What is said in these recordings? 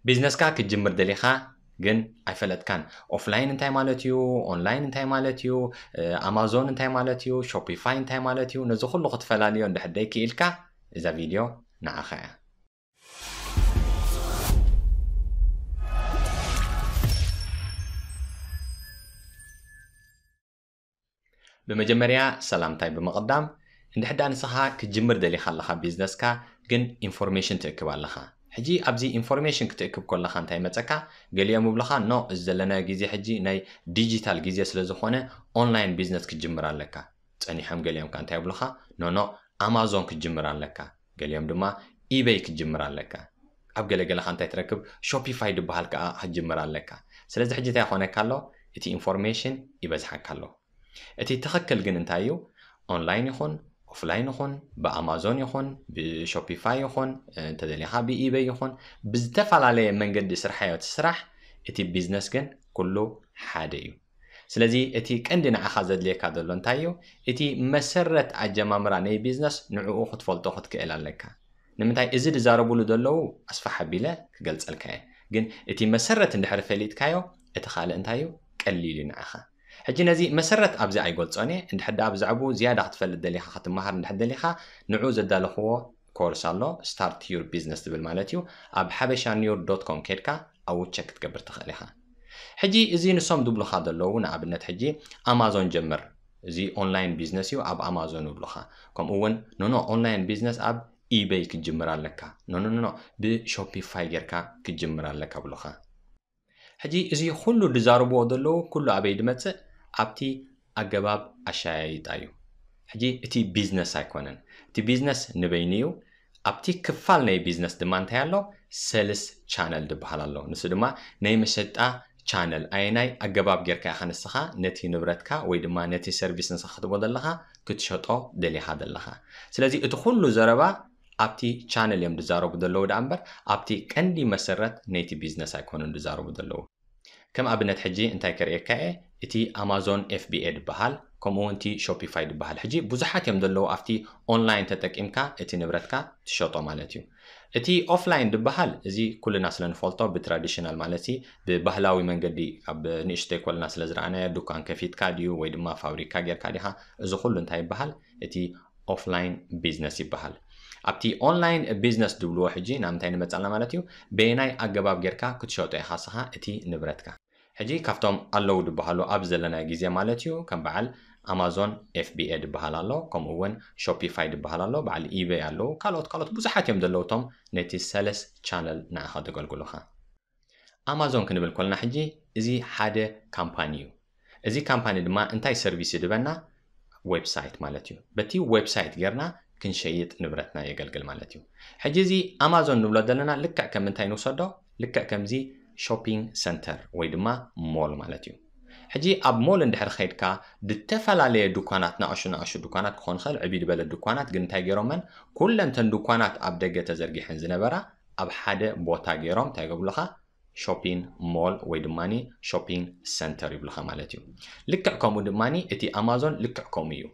ቢዝነስካ ክትጅምር ደሊኻ ግን ኣይፈለጥካን። ኦፍላይን እንታይ ማለት እዩ? ኦንላይን እንታይ ማለት እዩ? ኣማዞን እንታይ ማለት እዩ? ሾፒፋይ እንታይ ማለት እዩ? ነዚ ኩሉ ክትፈላልዮ እንድሕር ደይክኢልካ እዛ ቪድዮ ንዓኻ እያ። ብመጀመርያ ሰላምታይ ብምቕዳም፣ እንድሕዳ ንስኻ ክትጅምር ደሊኻ ኣለኻ ቢዝነስካ፣ ግን ኢንፎርሜሽን ትእክብ ኣለኻ። ሕጂ ኣብዚ ኢንፎርሜሽን ክትእክብ ከለኻ እንታይ መጸካ? ገሊኦም ይብሉኻ፣ ኖ፣ እዚ ዘለናዮ ግዜ ሕጂ ናይ ዲጂታል ግዜ ስለ ዝኾነ ኦንላይን ቢዝነስ ክትጅምር ኣለካ። ጸኒሖም ገሊኦም ከ እንታይ ይብሉኻ? ኖ ኖ፣ ኣማዞን ክትጅምር ኣለካ። ገሊኦም ድማ ኢበይ ክትጅምር ኣለካ። ኣብ ገለገለ ከ እንታይ ትረክብ? ሾፒፋይ ድበሃል ከኣ ክትጅምር ኣለካ። ስለዚ ሕጂ እንታይ ይኾነካ ኣሎ? እቲ ኢንፎርሜሽን ይበዝሓካ ኣሎ። እቲ ትኽክል ግን እንታይ እዩ? ኦንላይን ይኹን ኦፍላይን ይኹን ብኣማዞን ይኹን ብሾፒፋይ ይኹን እንተደሊኻ ብኢበይ ይኹን ብዝተፈላለየ መንገዲ ስርሓዮ እቲ ስራሕ፣ እቲ ቢዝነስ ግን ኩሉ ሓደ እዩ። ስለዚ እቲ ቀንዲ ንዓኻ ዘድልየካ ዘሎ እንታይ እዩ? እቲ መሰረት ኣጀማምራ ናይ ቢዝነስ ንዕኡ ክትፈልጦ ክትክእል ኣለካ። ንምንታይ እዚ ዝዛረብሉ ዘለዉ ኣስፋሕ ኣቢለ ክገልጸልካ እየ። ግን እቲ መሰረት እንድሕር ፈሊጥካዮ እቲ ካልእ እንታይ እዩ? ቀሊል እዩ ንዓኻ። ሕጂ ነዚ መሰረት ኣብዚ ኣይገልጾን እየ። እንድሕር ደኣ ብዛዕባኡ ዝያዳ ክትፈልጥ ደሊኻ ክትመሃር እንድሕር ደሊኻ ንዕኡ ዘዳለኽዎ ኮርስ ኣሎ፣ Start Your Business ዝብል ማለት እዩ። ኣብ ሓበሻ ኒውር ዶት ኮም ኬድካ ኣብኡ ቸክ ክትገብር ትኽእል ኢኻ። ሕጂ እዚ ንሶም ዝብሉኻ ዘለዉ ንኣብነት ሕጂ ኣማዞን ጀምር፣ እዚ ኦንላይን ቢዝነስ እዩ ኣብ ኣማዞን ይብሉኻ። ከምኡ እውን ኖኖ ኦንላይን ቢዝነስ ኣብ ኢበይ ክትጅምር ኣለካ፣ ኖኖ ኖኖ ብሾፒፋይ ጌርካ ክትጅምር ኣለካ ብሉኻ። ሕጂ እዚ ኩሉ ዝዛረብዎ ዘለዉ ኩሉ ኣበይ ድመጽእ? ኣብቲ ኣገባብ ኣሻያይጣ እዩ። ሕጂ እቲ ቢዝነስ ኣይኮነን። እቲ ቢዝነስ ንበይኑ እዩ። ኣብቲ ክፋል ናይ ቢዝነስ ድማ እንታይ ኣሎ? ሰልስ ቻነል ዝበሃል ኣሎ። ንሱ ድማ ናይ መሸጣ ቻነል። ኣየናይ ኣገባብ ጌርካ ኢኻ ንስኻ ነቲ ንብረትካ ወይ ድማ ነቲ ሰርቪስ ንስኻ ክትቦ ዘለኻ ክትሸጦ ደሊኻ ዘለኻ? ስለዚ እቲ ኩሉ ዘረባ ኣብቲ ቻነል እዮም ዝዛረቡ ዘለዉ ደኣ እምበር ኣብቲ ቀንዲ መሰረት ናይቲ ቢዝነስ ኣይኮኑን ዝዛረቡ ዘለዉ። ከም ኣብነት ሕጂ እንታይ ከርእየካ እየ፣ እቲ ኣማዞን ኤፍቢኤ ዝበሃል ከምኡ እውን እቲ ሾፒፋይ ዝበሃል ሕጂ ብዙሓት እዮም ዘለዉ ኣብቲ ኦንላይን ተጠቂምካ እቲ ንብረትካ ትሸጦ ማለት እዩ። እቲ ኦፍላይን ዝበሃል እዚ ኩልና ስለ ንፈልጦ ብትራዲሽናል ማለት ብባህላዊ መንገዲ ኣብ ንእሽተይ ኮልና ስለ ዝረኣናዮ ዱካን ከፊትካ ድዩ ወይ ድማ ፋብሪካ ጌርካ ዲኻ፣ እዚ ኩሉ እንታይ ይበሃል? እቲ ኦፍላይን ቢዝነስ ይበሃል። ኣብቲ ኦንላይን ቢዝነስ ድብልዎ ሕጂ ናብ ምንታይ ንመጻልና ማለት እዩ? በየናይ ኣገባብ ጌርካ ክትሸጦ ኢኻ ስኻ እቲ ንብረትካ? ሕጂ ካብቶም ኣለዉ ድበሃሉ ኣብ ዘለናዮ ግዜ ማለት እዩ ከም በዓል ኣማዞን ኤፍቢኤ ድበሃል ኣሎ፣ ከምኡ እውን ሾፒፋይ ድበሃል ኣሎ፣ በዓል ኢበይ ኣለዉ፣ ካልኦት ካልኦት ብዙሓት እዮም ዘለዉ እቶም ነቲ ሰለስ ቻነል ንዓኻ ዘገልግሉኻ። ኣማዞን ክንብል ኮልና ሕጂ እዚ ሓደ ካምፓኒ እዩ። እዚ ካምፓኒ ድማ እንታይ ሰርቪስ ይድበና? ዌብሳይት ማለት እዩ። በቲ ዌብሳይት ጌርና ክንሸይጥ ንብረትና የገልግል ማለት እዩ። ሕጂ እዚ ኣማዞን ንብሎ ዘለና ልክዕ ከም እንታይ ንውሰዶ? ልክዕ ከምዚ ሾፒንግ ሰንተር ወይ ድማ ሞል ማለት እዩ። ሕጂ ኣብ ሞል እንድሕር ኸይድካ ዝተፈላለየ ድኳናት፣ ናእሹ ናእሹ ድኳናት ክኾን ይኽእል፣ ዕብይ ዝበለ ድኳናት ግን እንታይ ገይሮመን? ኩለን ተን ድኳናት ኣብ ደገ ተዘርጊሐን ዝነበራ ኣብ ሓደ ቦታ ገይሮም እንታይ ይገብሉኻ? ሾፒን ሞል ወይ ድማ ሾፒንግ ሰንተር ይብሉኻ ማለት እዩ። ልክዕ ከምኡ ድማ እቲ ኣማዞን ልክዕ ከምኡ እዩ።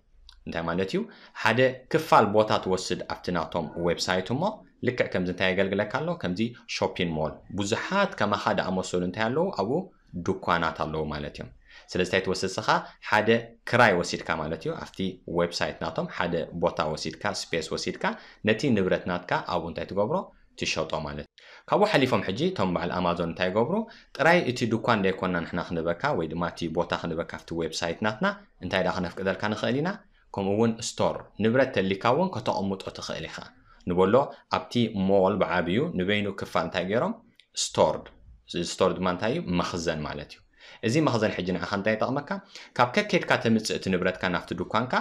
እንታይ ማለት እዩ? ሓደ ክፋል ቦታ ትወስድ ኣብቲ ናቶም ዌብሳይት እሞ ልክዕ ከምዚ እንታይ የገልግለካ ኣሎ? ከምዚ ሾፒን ሞል ብዙሓት ከማኻ ዝኣመሰሉ እንታይ ኣለዉ? ኣብኡ ድኳናት ኣለዉ ማለት እዮም። ስለዚ እንታይ ትወስድ ስኻ? ሓደ ክራይ ወሲድካ ማለት እዩ። ኣብቲ ዌብሳይት ናቶም ሓደ ቦታ ወሲድካ፣ ስፔስ ወሲድካ ነቲ ንብረት ናትካ ኣብኡ እንታይ ትገብሮ? ትሸጦ ማለት እዩ። ካብኡ ሓሊፎም ሕጂ እቶም በዓል ኣማዞን እንታይ ይገብሩ? ጥራይ እቲ ድኳን ደይኮና ንሕና ክንበካ ወይ ድማ እቲ ቦታ ክንበካ ኣብቲ ዌብሳይት ናትና እንታይ ደኣ ክነፍቅደልካ ንኽእል ኢና? ከምኡ እውን ስቶር ንብረት ተሊካ እውን ከተቐምጦ ትኽእል ኢኻ። ንበሎ ኣብቲ ሞል ብዓብዩ ንበይኑ ክፋል እንታይ ገይሮም? ስቶርድ። እዚ ስቶር ድማ እንታይ እዩ? መኽዘን ማለት እዩ። እዚ መኽዘን ሕጂ ንዓኻ እንታይ ይጠቕመካ? ካብ ከኬድካ ተምጽእ እቲ ንብረትካ ናብቲ ድኳንካ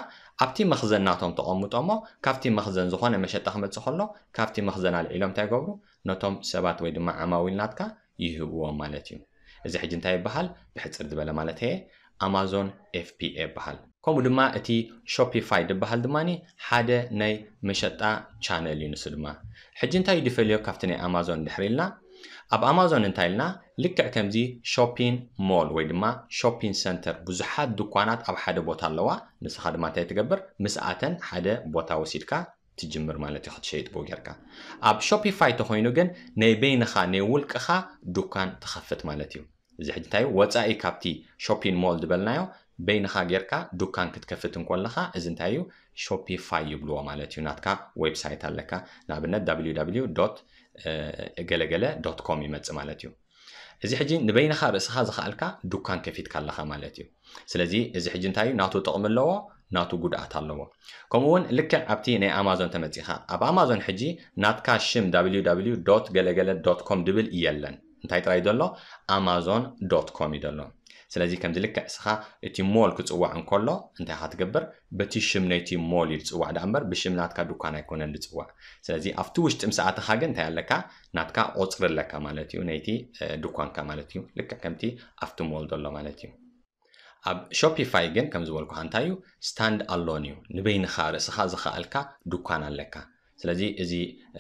ኣብቲ መኽዘን ናቶም ተቐምጦ እሞ ካብቲ መኽዘን ዝኾነ መሸጣ ክመጽእ ከሎ ካብቲ መኽዘን ኣልዒሎም እንታይ ይገብሩ? ነቶም ሰባት ወይ ድማ ዓማዊል ናትካ ይህብዎም ማለት እዩ። እዚ ሕጂ እንታይ ይበሃል? ብሕጽር ዝበለ ማለት እየ ኣማዞን ኤፍቢኤ ይበሃል። ከምኡ ድማ እቲ ሾፒፋይ ዝበሃል ድማ ሓደ ናይ መሸጣ ቻነል እዩ። ንሱ ድማ ሕጂ እንታይ እዩ ዝፈልዮ ካብቲ ናይ ኣማዞን ድሕሪ ኢልና ኣብ ኣማዞን እንታይ ኢልና ልክዕ ከምዚ ሾፒን ሞል ወይ ድማ ሾፒን ሰንተር ብዙሓት ድኳናት ኣብ ሓደ ቦታ ኣለዋ። ንስኻ ድማ እንታይ ትገብር? ምስኣተን ሓደ ቦታ ወሲድካ ትጅምር ማለት እዩ ክትሸይጥ ብኡ ጌርካ። ኣብ ሾፒፋይ ተኾይኑ ግን ናይ በይንኻ ናይ ውልቅኻ ዱካን ትኸፍት ማለት እዩ። እዚ ሕጂ እንታይ እዩ? ወፃኢ ካብቲ ሾፒን ሞል ዝበልናዮ በይንኻ ጌርካ ዱካን ክትከፍት እንኮለኻ እዚ እንታይ እዩ? ሾፒፋይ ይብልዎ ማለት እዩ። ናትካ ዌብሳይት ኣለካ፣ ንኣብነት www ገለገለ ዶት ኮም ይመጽእ ማለት እዩ። እዚ ሕጂ ንበይንኻ ርእስኻ ዝኸኣልካ ዱካን ከፊትካ ኣለኻ ማለት እዩ። ስለዚ እዚ ሕጂ እንታይ እዩ? ናቱ ጥቕሚ ኣለዎ፣ ናቱ ጉድኣት ኣለዎ። ከምኡ እውን ልክዕ ኣብቲ ናይ ኣማዞን ተመጺኻ፣ ኣብ ኣማዞን ሕጂ ናትካ ሽም www ገለገለ ዶት ኮም ድብል የለን። እንታይ ጥራይ ዘሎ? ኣማዞን ዶት ኮም እዩ ዘሎ። ስለዚ ከምዚ ልክዕ እስኻ እቲ ሞል ክጽዋዕ እንከሎ እንታይ ኢኻ ትገብር? በቲ ሽም ናይቲ ሞል እዩ ዝጽዋዕ ደኣ እምበር ብሽም ናትካ ዱካን ኣይኮነን ዝጽዋዕ። ስለዚ ኣብቲ ውሽጢ ምስ ኣተኻ ግን እንታይ ኣለካ? ናትካ ቁጽሪ ኣለካ ማለት እዩ፣ ናይቲ እ፣ ዱኳንካ ማለት እዩ። ልክዕ ከምቲ ኣብቲ ሞል ዘሎ ማለት እዩ። ኣብ ሾፒፋይ ግን ከም ዝበልኩኻ እንታይ እዩ? ስታንድ ኣሎን እዩ። ንበይንኻ ርእስኻ ዝኸኣልካ ዱኳን ኣለካ። ስለዚ እዚ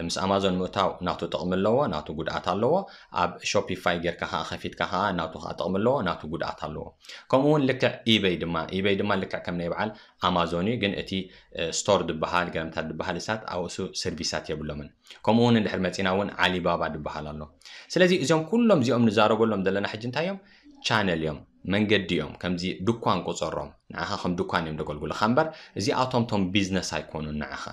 ምስ ኣማዞን ምእታው ናቱ ጥቕሚ ኣለዎ፣ ናቱ ጉድኣት ኣለዎ። ኣብ ሾፒፋይ ጌርካ ኸዓ ከፊትካ ኸዓ ናቱ ኸዓ ጥቕሚ ኣለዎ፣ ናቱ ጉድኣት ኣለዎ። ከምኡ እውን ልክዕ ኢበይ ድማ፣ ኢበይ ድማ ልክዕ ከም ናይ በዓል ኣማዞን እዩ፣ ግን እቲ እ፣ ስቶር ድበሃል፣ ገለምታት ድበሃል እሳት ኣብኡ ሰርቪሳት የብሎምን። ከምኡ እውን እንድሕር መፂና እውን ዓሊባባ ድበሃል ኣሎ። ስለዚ እዚኦም ኩሎም እዚኦም ንዛረበሎም ዘለና ሕጂ እንታይ እዮም? ቻነል እዮም፣ መንገዲ እዮም። ከምዚ ድኳን ቁፀሮም፣ ንዓኻ ከም ድኳን እዮም ደገልጉልኻ እምበር እዚኣቶም ቶም ቢዝነስ ኣይኮኑን። ንዓኻ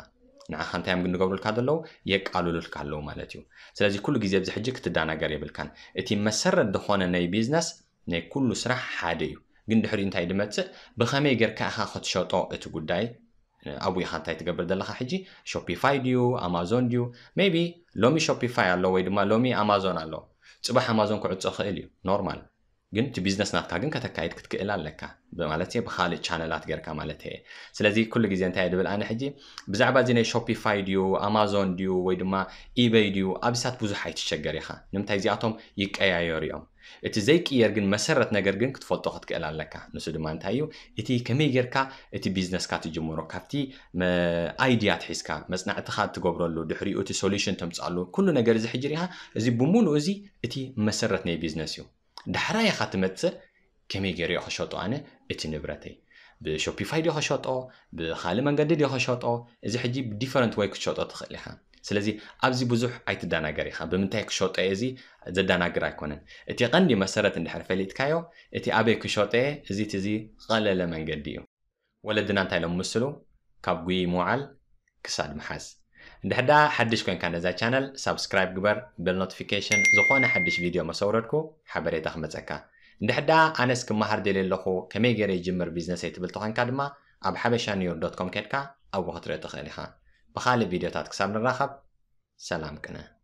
ንዓኻ እንታይ እዮም ግን ዝገብሩልካ ዘለዉ? የቃልሉልካ ኣለዉ ማለት እዩ። ስለዚ ኩሉ ግዜ ኣብዚ ሕጂ ክትደናገር የብልካን። እቲ መሰረት ዝኾነ ናይ ቢዝነስ ናይ ኩሉ ስራሕ ሓደ እዩ። ግን ድሕሪኡ እንታይ ድመፅእ? ብኸመይ ጌርካ ኢኻ ክትሸጦ? እቲ ጉዳይ ኣብኡ ኢኻ እንታይ ትገብር ዘለኻ ሕጂ? ሾፒፋይ ድዩ ኣማዞን ድዩ? ሜቢ ሎሚ ሾፒፋይ ኣሎ ወይ ድማ ሎሚ ኣማዞን ኣሎ። ፅባሕ ኣማዞን ክዕፆ ክእል እዩ፣ ኖርማል። ግን እቲ ቢዝነስ ናትካ ግን ከተካይድ ክትክእል ኣለካ ማለት እየ፣ ብካልእ ቻነላት ጌርካ ማለት እየ። ስለዚ ኩሉ ግዜ እንታይ እየ ድብል ኣነ ሕጂ ብዛዕባ እዚ ናይ ሾፒፋይ ድዩ ኣማዞን ድዩ ወይ ድማ ኢበይ ድዩ ኣብሳት ብዙሕ ኣይትሸገር ኢኻ። ንምንታይ እዚኣቶም ይቀያየሩ እዮም። እቲ ዘይቅየር ግን መሰረት ነገር ግን ክትፈልጦ ክትክእል ኣለካ። ንሱ ድማ እንታይ እዩ? እቲ ከመይ ጌርካ እቲ ቢዝነስካ ትጅምሮ፣ ካብቲ መ-፣ ኣይድያ ትሒዝካ፣ መጽናዕትኻ ትገብረሉ፣ ድሕሪኡ እቲ ሶሉሽን ተምጽኣሉ፣ ኩሉ ነገር እዚ ሕጂ ሪኢኻ፣ እዚ ብምሉኡ እዚ እቲ መሰረት ናይ ቢዝነስ እዩ። ዳሕራይ ኢኻ ትመጽእ፣ ከመይ ገይረ እየ ክሸጦ ኣነ እቲ ንብረተይ? ብሾፒፋይ ድዮ ክሸጦ? ብኻልእ መንገዲ ድዮ ክሸጦ? እዚ ሕጂ ብዲፈረንት ወይ ክትሸጦ ትኽእል ኢኻ። ስለዚ ኣብዚ ብዙሕ ኣይትደናገር ኢኻ። ብምንታይ ክሸጦ እየ እዚ ዘደናግር ኣይኮነን። እቲ ቀንዲ መሰረት እንድሕር ፈሊጥካዮ፣ እቲ ኣበይ ክሸጦ እየ፣ እዚ እቲ እዚ ቀለለ መንገዲ እዩ። ወለድና እንታይ ኢሎም ምስሉ? ካብ ጉይ ምውዓል ክሳድ ምሓዝ። እንድሕር ደኣ ሓድሽ ኮንካ ነዛ ቻነል ሳብስክራይብ ግበር፣ ቤል ኖቲፊኬሽን፣ ዝኾነ ሓድሽ ቪድዮ መሰውረድኩ ሓበሬታ ክመጸካ። እንድሕር ደኣ ኣነስ ክመሃር ደልየ ኣለኹ፣ ከመይ ገይረ ይጅምር ቢዝነሰይ ትብል ተኾንካ ድማ ኣብ ሓበሻ ኒውዮርክ ዶት ኮም ከድካ ኣብኡ ክትርኢ ትኽእል ኢኻ። ብኻልእ ቪድዮታት ክሳብ ንራኸብ ሰላም ቅነ።